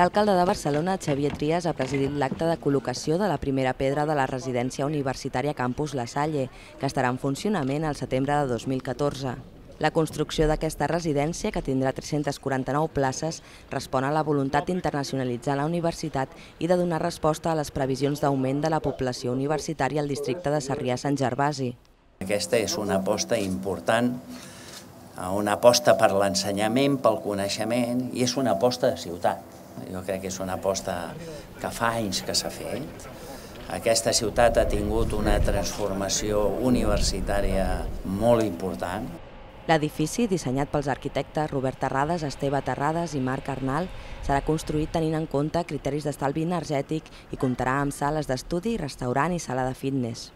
L'alcalde de Barcelona, Xavier Trias, ha presidit l'acte de col·locació de la primera pedra de la residència universitària Campus La Salle, que estarà en funcionament al setembre de 2014. La construcció d'aquesta residència, que tindrà 349 places, respon a la voluntat d'internacionalitzar la universitat i de donar resposta a les previsions d'augment de la població universitària al districte de Sarrià-Sant Gervasi. Aquesta és una aposta important, una aposta per l'ensenyament, pel coneixement, i és una aposta de ciutat. Jo crec que és una aposta que fa anys que s'ha fet. Aquesta ciutat ha tingut una transformació universitària molt important. L'edifici, dissenyat pels arquitectes Robert Terrades, Esteve Terrades i Marc Arnal, serà construït tenint en compte criteris d'estalvi energètic i comptarà amb sales d'estudi, restaurant i sala de fitness.